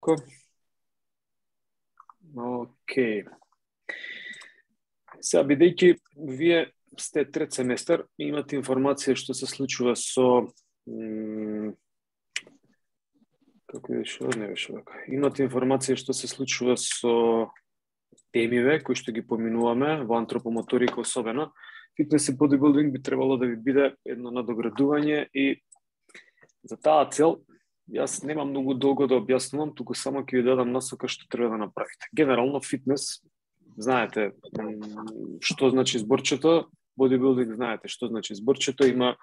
Марко. Океј. Сега, бидејќи вие сте трет семестар, имате информација што се случува со како беше, не беше вака. Имате информација што се случува со темиве кои што ги поминуваме во антропомоторика особено. Фитнес и бодибилдинг би требало да ви биде едно надоградување и за таа цел јас немам многу долго да објаснувам, туку само ќе ви дадам насока што треба да направите. Генерално фитнес, знаете што значи зборчето, бодибилдинг знаете што значи зборчето, има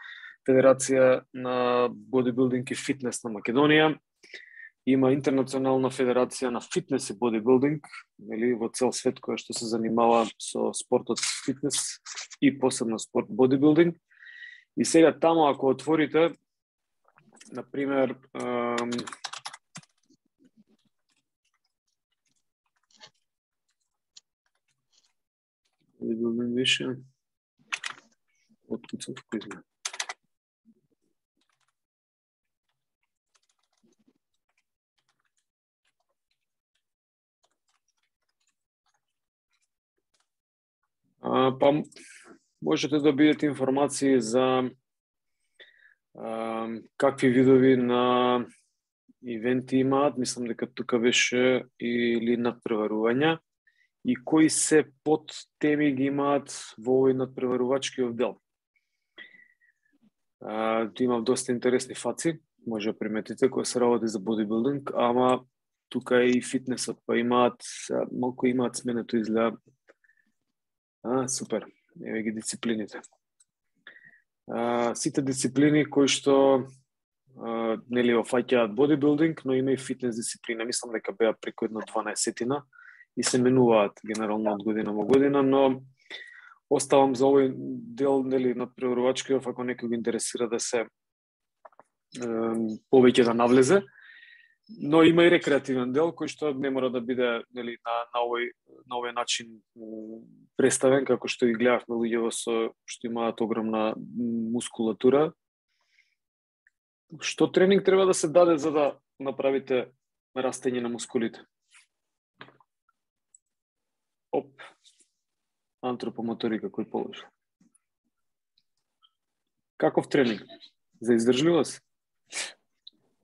Федерација на бодибилдинг и фитнес на Македонија, има Интернационална федерација на фитнес и бодибилдинг, нели, во цел свет која што се занимава со спортот фитнес и посебно спорт бодибилдинг. И сега таму ако отворите, например, бодибилдинг више, откуцав кој знае. Па можете да бидете информации за какви видови на ивенти имаат, мислам дека тука беше или надпреварувања и кои се под теми ги имаат во овој надпреварувачкиот дел. Имам доста интересни фаци, може да приметите, кои се работи за бодибилдинг, ама тука и фитнесот, па имаат, малку имаат сменето изгледа. Супер, еве ги дисциплините. Сите дисциплини кои што нели офаќаат бодибилдинг, но има и фитнес дисциплина. Мислам дека беа преку 12 и се менуваат генерално од година во година, но оставам за овој дел нели надпреварувачкиот, ако некој го интересира да се повеќе да навлезе. Но има и рекреативен дел кој што не мора да биде нели на овој начин представен, како што ги гледавме луѓето што имаат огромна мускулатура. Што тренинг треба да се даде за да направите растење на мускулите? Антропомоторика кој положи. Каков тренинг? За издржливост?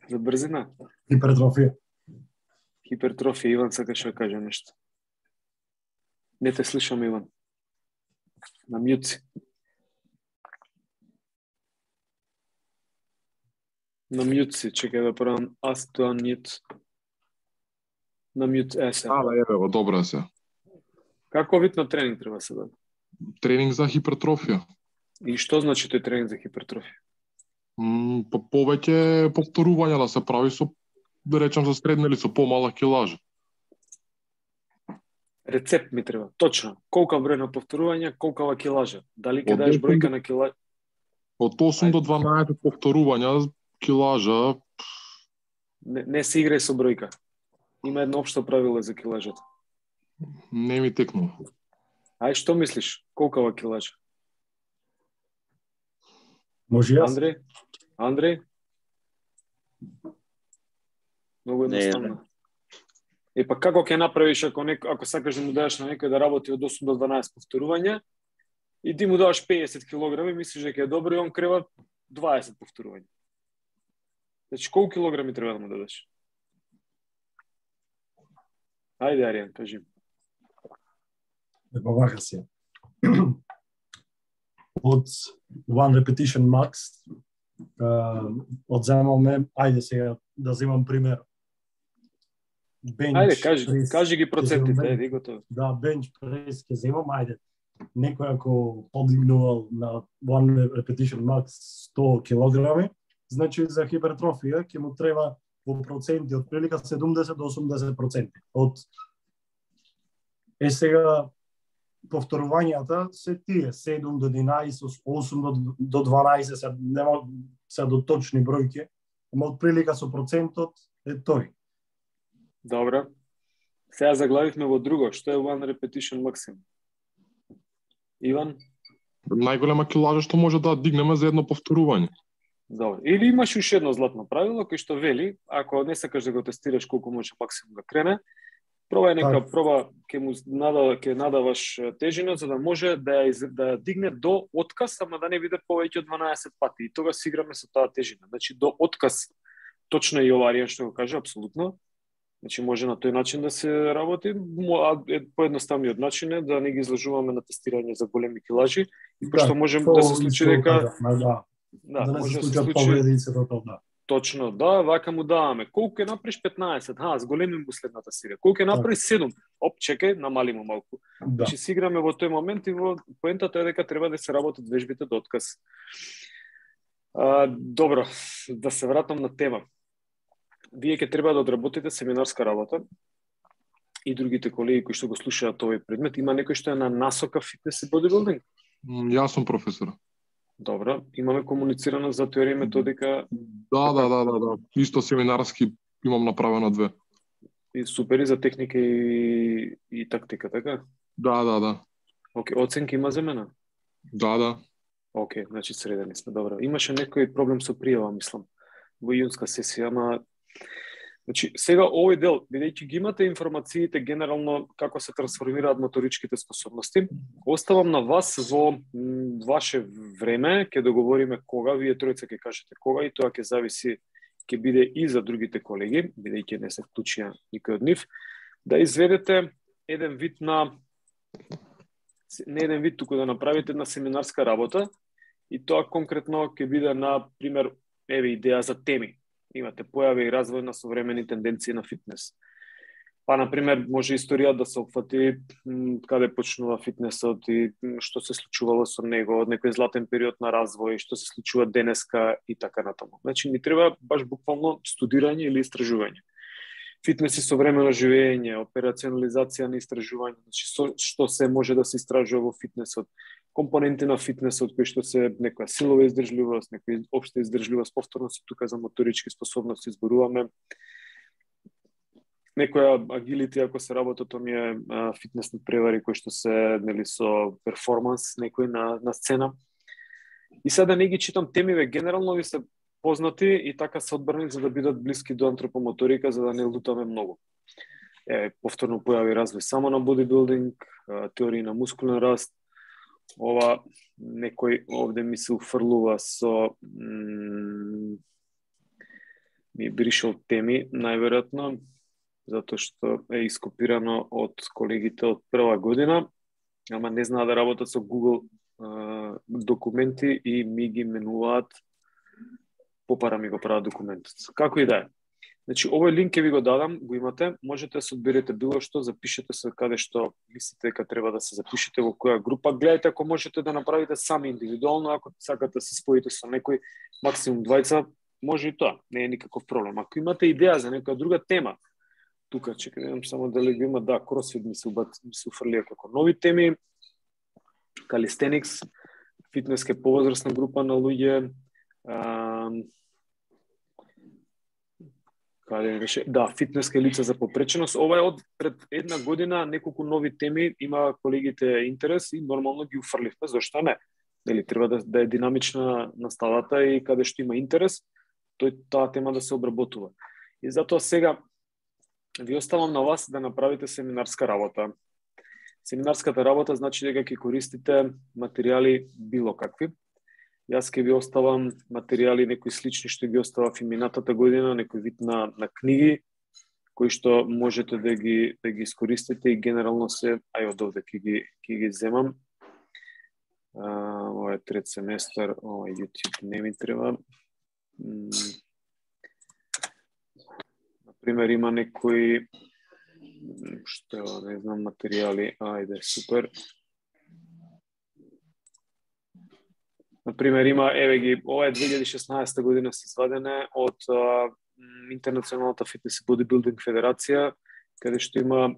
За брзина? Хипертрофија. Хипертрофија, Иван сакаше да каже нешто. Не те слушам, Иван. На мјут си. На мјут си, чекај да правам ask to unmute. На мјут се. Еве, добро се. Како вид на тренинг треба се даде? Тренинг за хипертрофија. И што значи тој тренинг за хипертрофија? Повеќе повторувања да се прави со, да речем, со средна или со помала килажа. Рецепт ми треба, точно. Колка број на повторувања, колкава килажа? Дали ќе даеш бројка на килажа? Од 8 до 12 повторувања килажа. Не се играј со бројка. Има едно општо правило за килажата. Не ми текнува. Ај, што мислиш? Колкава килажа? Може јас? Андреј? Многу едноставно. Па како ќе направиш ако сакаш да му дадеш на некој да работи од 8 до 12 повторувања и ти му даваш 50 килограми, мислиш дека е добро и он крева 20 повторувања. Значи, колку килограми треба да му дадеш? Ајде, Аријан, кажи. Вака се. Од one repetition max, одземаме, ајде сега да земам пример. Bench, ајде, кажи ги процентите, еди готово. Да, бенч прес ќе земам, ајде. Некој ако подигнувал на one repetition max 100 килограми, значи за хипертрофија ќе му треба во проценти од прилика 70 до 80%. Сега повторувањата се тие 7 до 11, 8 до 12, се до точни бројки, ама од прилика со процентот е тој. Добро. Сега заглавивме во друго. Што е one repetition maximum? Иван? Најголема килажа што може да дигнеме за едно повторување. Добро. Или имаш уште едно златно правило кој што вели, ако не сакаш да го тестираш колку може максимум да крене, пробај нека проба ќе надаваш тежина за да може да ја дигне до отказ, ама да не биде повеќе од 12 пати. И тогаш си играме со таа тежина. Значи до отказ, точно и ова Аријан што го кажа, апсолутно. Значи може на тој начин да се работи, поедноставниот начин е да не ги изложуваме на тестирање за големи килажи, и пошто можем да се случи дека да не се случат повреди и се тоа. Точно, да, вака му даваме. Колку ќе направиш 15? Зголемим му следната серија. Колку ќе направиш 7? Оп, чекај, намали му малку. Значи си играме во тој момент и во поентата е дека треба да се работат вежбите до отказ. Добро, да се вратам на тема. Вие ќе треба да одработите семинарска работа и другите колеги кои што го слушаат овој предмет. Има некој што е на насока фитнес и бодибилдинг? Јас сум професор. Добро, имаме комуницирано за теорија и методика. Да. Исто семинарски имам направено 2. И супер, и за техника и тактика, така? Да. Океј, оценки има за мене? Да. Океј, значи средени сме, добро. Имаше некој проблем со пријава, мислам, во иунска сесија, ама значи, сега овој дел, бидејќи ги имате информациите генерално како се трансформираат моторичките способности, оставам на вас во ваше време, ќе договориме кога, вие тројца ќе кажете кога и тоа ќе зависи, ќе биде и за другите колеги, бидејќи не се вклучија никој од нив, да изведете еден вид не еден вид, туку да направите една семинарска работа и тоа конкретно ќе биде, на пример, идеја за теми. Имате појави и развој на современи тенденции на фитнес. Па, например, може историја да се опфати каде почнува фитнесот и што се случувало со него, од некој златен период на развој, што се случува денеска и така натаму. Значи, ни треба баш буквално студирање или истражување. Фитнес и современо живење, операционализација на истражување, значи што се може да се истражува во фитнесот, компоненти на фитнесот кои што се некоја силова издржливост, некоја општа издржливост, повторно се тука за моторички способности зборуваме. Некоја агилити, ако се работат оние фитнесни превари кои што се со перформанс некој на сцена. И сега не ги читам темиве, генерално ви се познати и така се одбрани за да бидат блиски до антропомоторика, за да не лутаме многу. Повторно појави развој само на бодибилдинг, теории на мускулен раст. Ова некој овде ми се уфрлува со ми бришал теми, најверојатно, затоа што е ископирано од колегите од прва година, ама не знаат да работат со Google документи и ми ги менуваат попара ми го прават документот. Како и да е. Значи, овој линк ќе ви го дадам, го имате, можете да се одберете било што, запишете се каде што мислите дека треба да се запишете, во која група. Гледајте ако можете да направите сами индивидуално, ако сакате да се споите со некој, максимум 20, може и тоа, не е никаков проблем. Ако имате идеја за некоја друга тема, тука чекај, видам само дали го има, кросфит ми се уфрлија како нови теми, калистеникс, фитнеска повозрасна група на луѓе, фитнеска лица за попреченост. Ова е од пред една година, неколку нови теми, има колегите интерес и нормално ги уфрливме, зашто не? Дали треба да е динамична наставата и каде што има интерес, таа тема да се обработува. И затоа сега ви оставам на вас да направите семинарска работа. Семинарската работа значи дека ќе користите материјали било какви. Јас ќе ви оставам материјали некои слични што ги оставав и минатата година, некој вид на книги кои што можете да ги искористите и генерално се, од овде ќе ги земам. Ова е трет семестар, ова YouTube не ми треба. Например, има некои не знам, материјали, супер. Например, има, ова е 2016 година се извадене од Интернационалната фитнес и бодибилдинг федерација, каде што има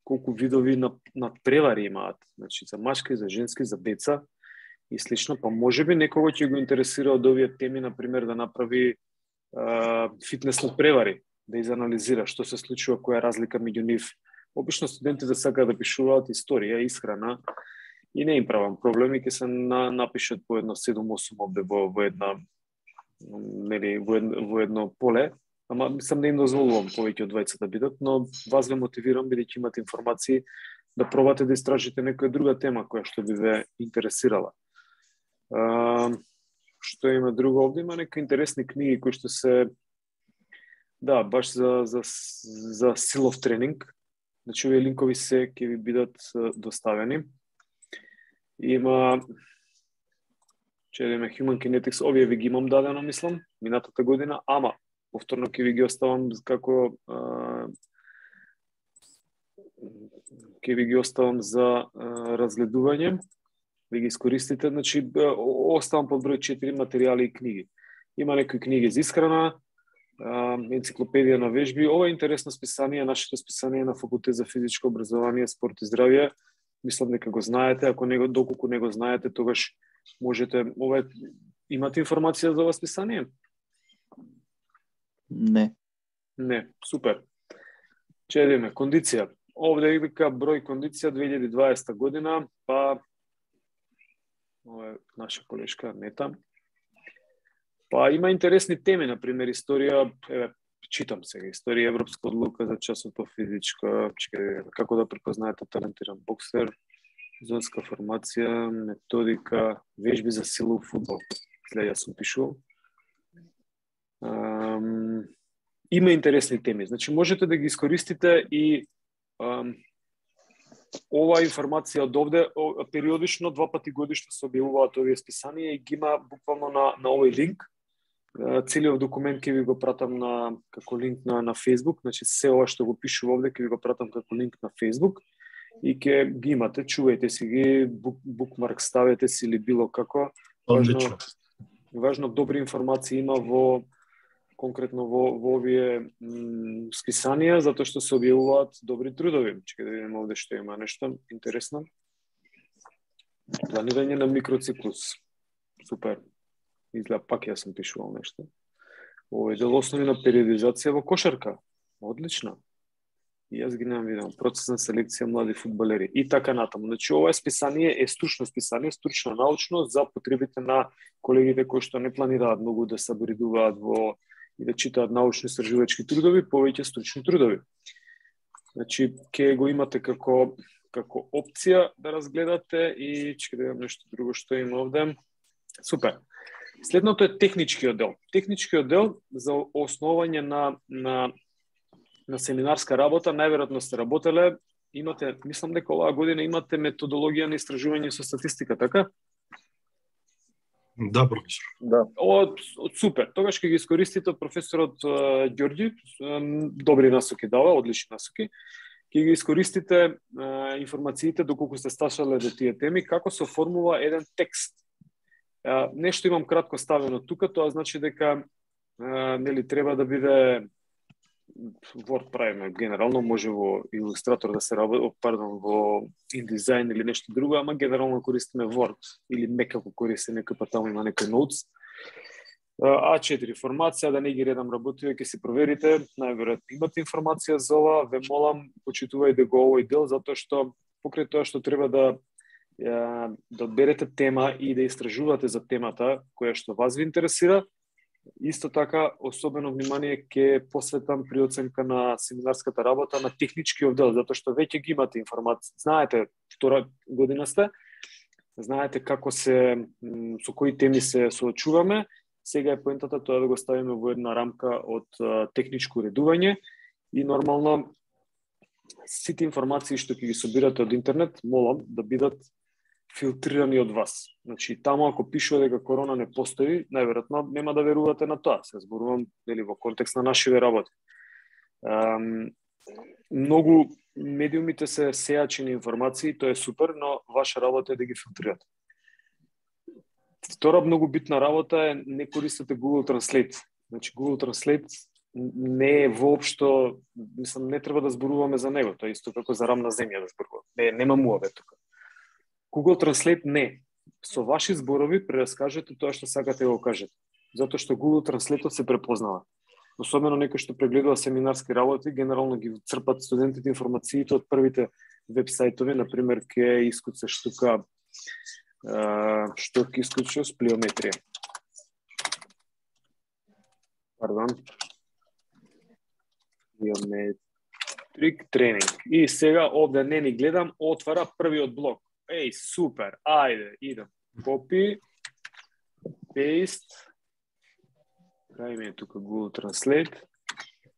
колку видови на превари имаат, значи за машки, за женски, за деца и слично, па можеби некого ќе го интересира од овие теми, например, да направи фитнес на превари, да изанализира што се случува, која е разлика меѓу нив. Обично студентите сакаат да пишуваат историја, исхрана, и не им правам проблеми, ќе се напишат по едно 7-8 овде во една нели во едно поле, ама мислам не им дозволувам повеќе од двајцата да бидат, но вас ве мотивирам бидејќи имате информации да пробате да истражите некоја друга тема која што би ве интересирала. Што има друго овде? Има некои интересни книги кои што се баш за силов тренинг. Значи овие линкови се ќе ви бидат доставени. Има Human Kinetics, овие ви ги имам дадено, мислам, минатата година, ама повторно ќе ви ги оставам како за разгледување. Ви ги искористите, значи оставам под број 4 материјали и книги. Има некои книги за исхрана, енциклопедија на вежби. Ова е интересно списание, нашето списание на Факултет за физичко образование, спорт и здравје. Мислам дека го знаете, доколку не го знаете, тогаш можете, имате информација за ова списание? Не. Не, супер. Чедиме, кондиција. Овде вика број кондиција 2020 година, па ова е наша колешка Нета. Па има интересни теми, например историја, читам сега, историја европска одлука за часот по физичка, како да препознаете талентиран боксер, зонска формација, методика, вежби за силов фудбал. Ја сум пишувал. Има интересни теми, значи можете да ги искористите и ова информација од овде периодично 2 пати годишно се објавуваат овие списанија и ги има буквално на овој линк. Целиот документ ќе ви го пратам како линк на Facebook, значи се ова што го пишува овде ќе ви го пратам како линк на Facebook и ќе ги имате, чувајте си ги, букмарк ставете си или било како. Важно добри информации има конкретно во овие списанија, затоа што се објавуваат добри трудови. Чекај да видиме овде што има нешто интересно. Планирање на микроциклус. Супер. Изгледа пак јас сум пишувал нешто. Овој дел основи на периодизација во кошарка. Одлично. И јас ги немам видено. Процес на селекција млади фудбалери. И така натаму. Значи, ова списание е стручно списание, стручно научно за потребите на колегите кои што не планираат многу да се аборидуваат и да читаат научно-истражувачки трудови, повеќе стручни трудови. Значи, ќе го имате како опција да разгледате и ќе да видам нешто друго што има овде. Супер. Следното е техничкиот дел. Техничкиот дел за основање на семинарска работа, најверојатно сте работеле, имате, мислам дека оваа година имате методологија на истражување со статистика, така? Да, професор. Да. Супер. Тогаш ќе ги искористите од професорот Ѓорѓи, добри насоки дава, одлични насоки. Ќе ги искористите информациите доколку сте сташале до тие теми, како се оформува еден текст. Нешто имам кратко ставено тука, тоа значи дека нели треба да биде Word правиме генерално, може во Illustrator да се работи, во InDesign или нешто друго, ама генерално користиме Word или мекако користи некој па таму има некој notes. А4 формација, да не ги редам работиви, ќе си проверите, најверојатно имате информација за ова, ве молам, почитувајте го овој дел, затоа што покрај тоа што треба да одберете тема и да истражувате за темата која што вас ви интересира, исто така, особено внимание ќе посветам при оценка на семинарската работа на техничкиот дел, затоа што веќе ги имате информација. Знаете, втора година сте, знаете како со кои теми се соочуваме. Сега е поентата тоа да го ставиме во една рамка од техничко уредување и нормално сите информации што ќе ги собирате од интернет, молам да бидат филтрирани од вас. Значи, таму ако пишува дека корона не постои, најверојатно нема да верувате на тоа. Се зборувам во контекст на нашиве работи. Многу медиумите се сејачи на информации, тоа е супер, но ваша работа е да ги филтрирате. Втора многу битна работа е не користите Google Translate. Значи, Google Translate не е воопшто, мислам, не треба да зборуваме за него, тоа е исто како за рамна земја да зборуваме. Нема муаве тука. Google Translate не. Со ваши зборови прераскажете тоа што сакате да го кажете. Затоа што Google Translate се препознава. Особено некој што прегледува семинарски работи, генерално ги црпат студентите информациите од првите веб-сајтови, например, ќе искуцаш тука што ќе искучиш плиометрија. Пардон. Geometric тренинг. И сега овде не ни гледам, отвара првиот блок. Еј, супер, ајде, идем. Copy, paste, кај ми е тука Google Translate.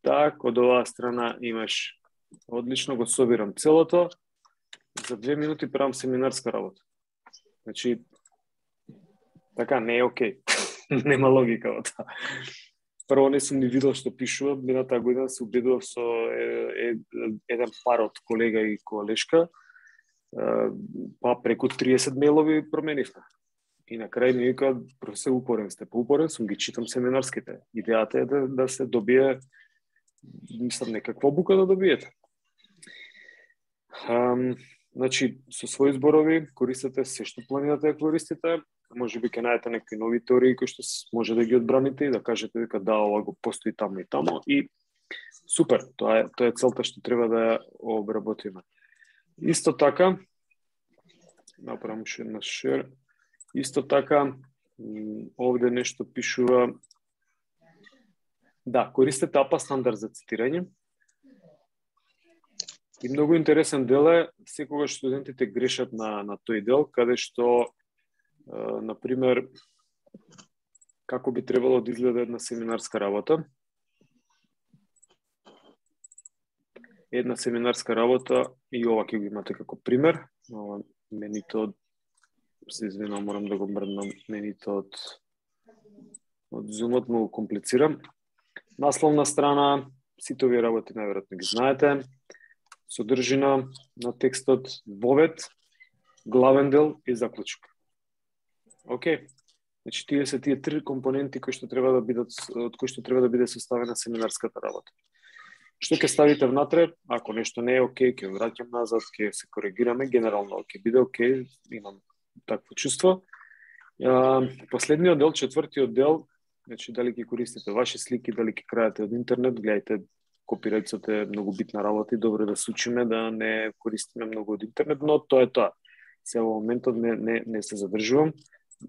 Так, од оваа страна имаш, одлично, го собирам целото. За 2 минути правам семинарска работа. Значи, така, не е окей. Нема логика во тоа. Прво не сум ни видел што пишува, минатаа година се убедував со еден пар од колега и колешка, па преку 30 мејлови променивме. И на крај ми вика, професор, упорен сте, поупорен сум, ги читам семинарските. Идејата е да се добие, мислам, некаква бука да добиете. Значи, со своји зборови користете се што планирате да користите, може би ќе најдете некои нови теории кои што може да ги одбраните и да кажете дека да, ова го постои тамо и тамо и супер, тоа е целта што треба да ја обработиме. Исто така, направам уште една шер, исто така, овде нешто пишува, да, користете APA стандард за цитирање. И многу интересен дел е, секогаш студентите грешат на тој дел, каде што, например, како би требало да изгледа една семинарска работа. Една семинарска работа, и ова ќе го имате како пример. Менито, се извинам, морам да го мрднам, менито од Zoom-от многу комплицирам. Насловна страна, сите овие работи најверојатно ги знаете. Содржина на текстот, вовед, главен дел и заклучок. Океј. Значи, тие се тие три компоненти кои што треба да бидат, од кои што треба да биде составена семинарската работа. Што ќе ставите внатре? Ако нешто не е окей, ќе враќам назад, ќе се коригираме, генерално ќе биде окей, имам такво чувство. Последниот дел, четвртиот дел, значи дали ќе користите ваши слики, дали ќе крајате од интернет, гледајте, копирајцот е многу битна работа и добро да се учиме да не користиме многу од интернет, но тоа е тоа. Сега во моментот не се задржувам.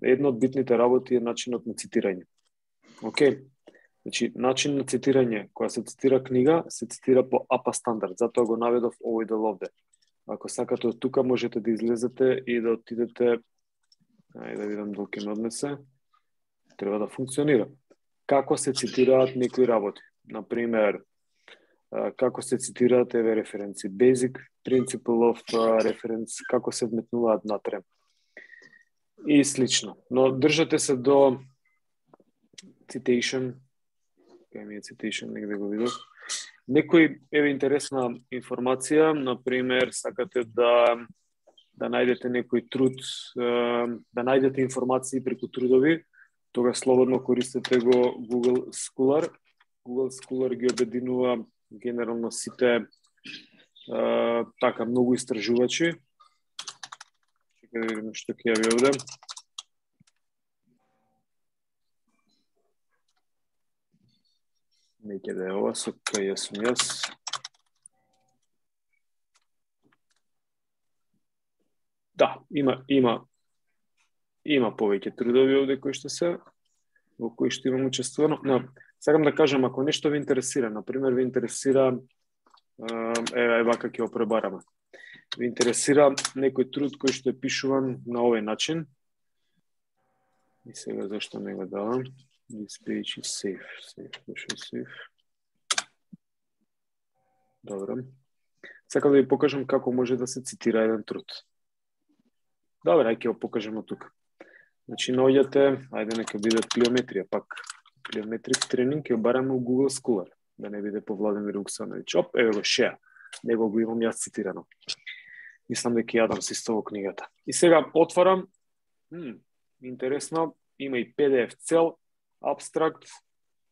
Една од битните работи е начинот на цитирање. Океј. Значи, начин на цитирање, кога се цитира книга, се цитира по APA стандард, затоа го наведов овој дел овде. Ако сакате од тука, можете да излезете и да отидете, ајде да видам дали ќе ме однесе, треба да функционира. Како се цитираат некои работи? Например, како се цитираат еве референци, basic principle of reference, како се вметнуваат натре и слично. Но држате се до citation, кај ми е citation, негде го видов. Некој еве интересна информација, например, сакате да најдете некој труд, да најдете информации преку трудови, тога слободно користете го Google Scholar. Google Scholar ги обединува генерално сите така многу истражувачи. Чекај да видим што ќе јави овде. Неќе да е ова, со кај ја сум јас. Да, има повеќе трудови овде кои што се, во кои што имам учествувано. Но сакам да кажам, ако нешто ви интересира, например, ви интересира, вака ќе го пребараме. Ви интересира некој труд кој што е пишуван на овој начин. И сега зашто не го давам? This page is safe. Добро. Сакам да ви покажам како може да се цитира еден труд. Добре, ајде ќе го покажеме тука. Значи, наоѓате, ајде нека биде плиометрија, пак плиометрик тренинг ќе бараме у Google Scholar, да не биде по Владимир Вуксановиќ. Оп, еве го шеа, него го имам јас цитирано. Мислам дека јадам се исто во книгата. И сега отварам, интересно, има и PDF цел, абстракт,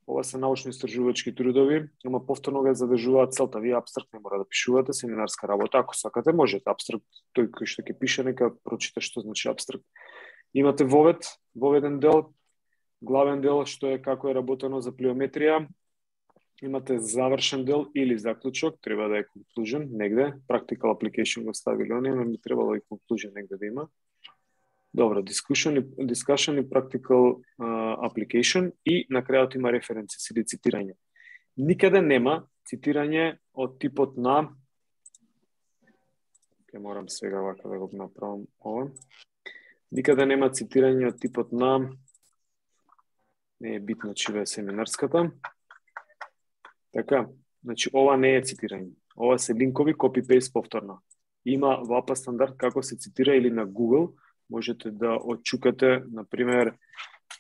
ова се научно-истражувачки трудови, ама повторно го задржуваат целта. Вие абстракт не мора да пишувате, семинарска работа, ако сакате можете абстракт, тој кој што ќе пише нека прочита што значи абстракт. Имате воведен дел, главен дел што е како е работено за плиометрија, имате завршен дел или заклучок, треба да е conclusion негде, practical application го ставили оние, но би требало и conclusion негде да има. Добро, discussion и practical application и на крајот има референци или цитирање. Никаде нема цитирање од типот на Ке морам сега вака да го направам ова. Никаде нема цитирање од типот на не е битно чива е семинарската. Така, значи ова не е цитирање. Ова се линкови copy-paste повторно. Има во APA стандард како се цитира или на Google можете да отчукате, например,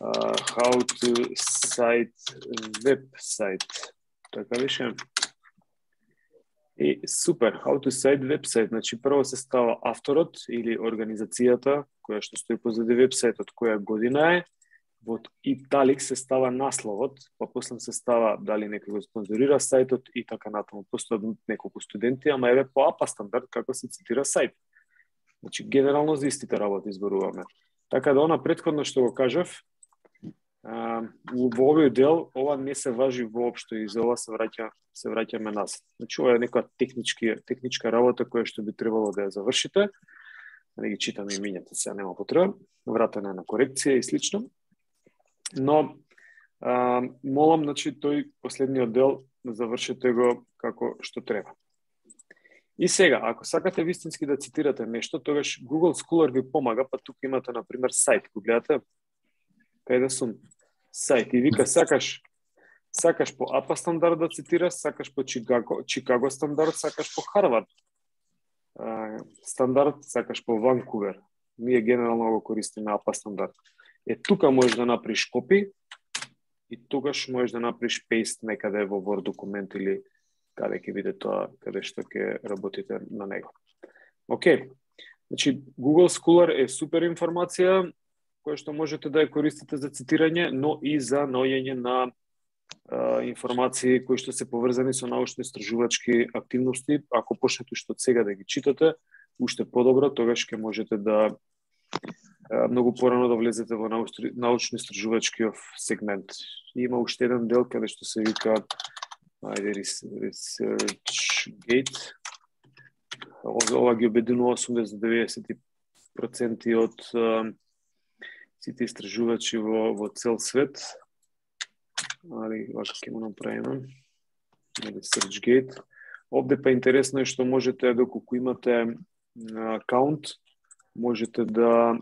how to cite website. Така беше. И супер, how to cite website. Значи прво се става авторот или организацијата која што стои позади вебсајтот, која година е. Во италик се става насловот, па после се става дали некој го спонзорира сајтот и така натаму. Постојат неколку студенти, ама еве по APA стандард како се цитира сајт. Значи, генерално за истите работи изборуваме. Така да, она претходно што го кажав, во овој дел, ова не се важи воопшто и за ова се враќаме назад. Значи, ова е некоја техничка работа која што би требало да ја завршите. Да ги читаме имињата, сега нема потреба. Вратене на корекција и слично. Но, молам, значи, тој последниот дел завршите го како што треба. И сега, ако сакате вистински да цитирате нешто, тогаш Google Scholar ви помага, па тука имате, например, сајт. Го гледате? Кај да сум? Сајт. И вика, сакаш по APA стандард да цитираш, сакаш по Чикаго стандард, сакаш по Харвард стандард, сакаш по Ванкувер. Ние генерално го користиме APA стандард. Тука можеш да направиш копи и тогаш можеш да направиш пейст некаде во Word документ или каде ќе биде тоа, каде што ќе работите на него. Океј. Значи, Google Scholar е супер информација која што можете да ја користите за цитирање, но и за наоѓање на информации кои што се поврзани со научно-истражувачки активности. Ако почнете што сега да ги читате, уште подобро, тогаш ќе можете да многу порано да влезете во научно-истражувачкиот сегмент. И има уште еден дел каде што се вика ResearchGate. Ова ги обединува 80-90% од сите истражувачи во цел свет. Али, вака ќе му направиме. ResearchGate. Овде па интересно е што можете, доколку имате акаунт, можете да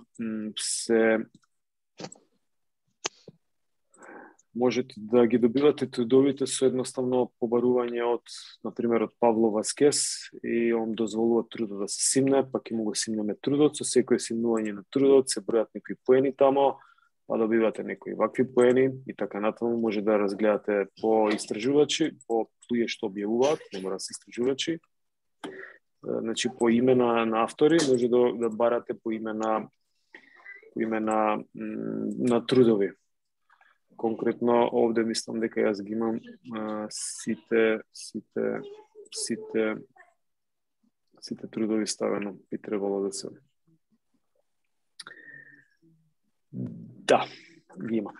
можете да ги добивате трудовите со едноставно побарување од, например, од Павло Васкес и он дозволува трудот да се симне, па ќе му го симнеме трудот, со секој симнување на трудот се бројат некои поени тамо, па добивате некои вакви поени и така натаму може да разгледате по истражувачи, по луѓе што објавуваат, не мора да се истражувачи. Значи по име на автори може да барате по име на трудови. Конкретно овде мислам дека јас ги имам сите трудови ставено, би требало да се. Да, ги имам.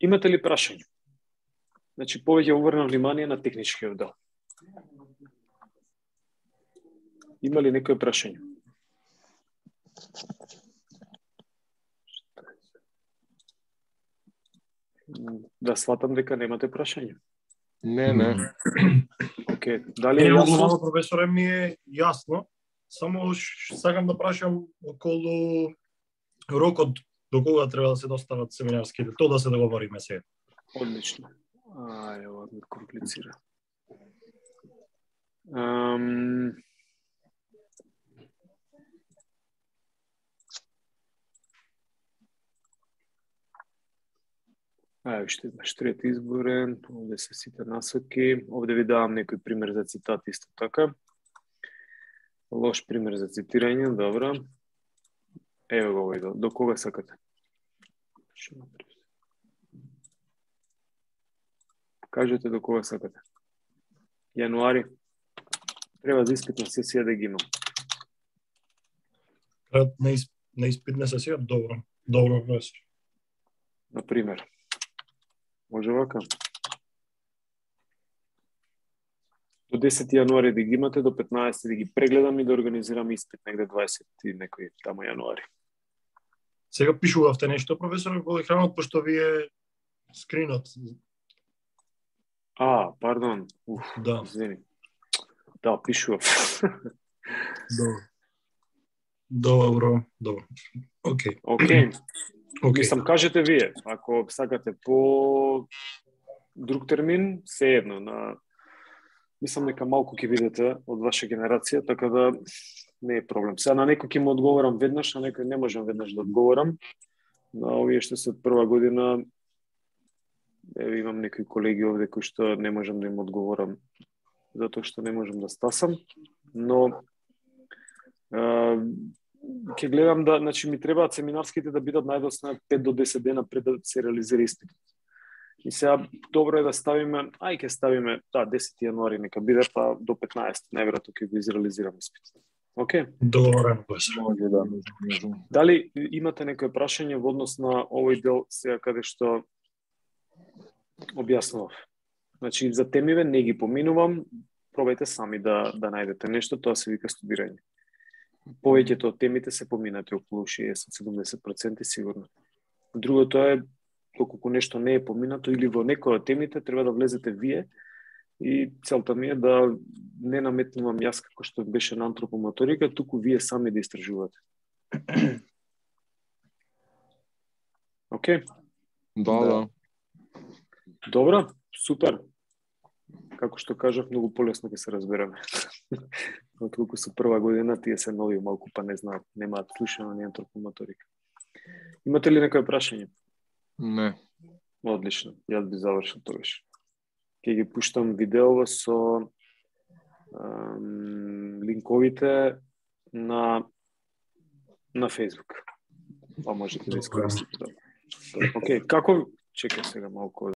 Имате ли прашање? Значи повеќе обрнав внимание на техничкиот дел. Има ли некој прашање? Да сватам дека немате прашање. Не. Океј, дали е јасно? Професоре, ми е јасно. Само сакам да прашам околу рокот до кога треба да се достават семинарските, тоа да се договориме сега. Одлично. Ова ми комплицира. Уште еднаш трет изборен, овде се сите насоки. Овде ви давам некој пример за цитат исто така. Лош пример за цитирање, добро. Ево го овој, до кога сакате? Кажете до кога сакате. Јануари. Треба за испитна сесија да ги имам. На испитна сесија? Добро, професор. Например. Може вака. До 10 јануари да ги имате, до 15 да ги прегледам и да организирам испит негде 20 и некој тамо јануари. Сега пишувавте нешто, професор, во екранот, пошто ви е скринот. Пардон. Да. Извини. Да, пишував. Добро. Океј. Мислам, кажете вие, ако сакате по друг термин, сеедно. Мислам дека малку ќе видите од ваша генерација, така да не е проблем. Сега на некој ќе му одговорам веднаш, на некој не можам веднаш да одговорам. На овие што се од прва година, имам некои колеги овде кои што не можам да им одговорам затоа што не можам да стасам, но ќе гледам да, значи ми требаат семинарските да бидат најдосна 5 до 10 дена пред да се реализира испитот. И сега добро е да ставиме, ќе ставиме 10 јануари нека биде, па до 15 најверојатно ќе го изреализираме испитот. Океј? Добро. Дали имате некој прашање во однос на овој дел сега каде што објаснував? Значи за темиве не ги поминувам, пробајте сами да најдете нешто, тоа се вика студирање. Повеќето од темите се поминати, околу 60-70% сигурно. Другото е, доколку нешто не е поминато или во некој од темите, треба да влезете вие и целта ми е да не наметнувам јас како што беше на антропомоторика, туку вие сами да истражувате. Океј? Да. Добро, супер. Како што кажав, многу полесно ќе се разбереме. Отколку со прва година, тие се нови малку, па не знаат, немаат слушано ни антропомоторика. Имате ли некој прашање? Не. Одлично, јас би завршил тогаш. Ќе ги пуштам видеово со линковите на Facebook. Па можете да искористите. Океј, како... Чекај сега малку.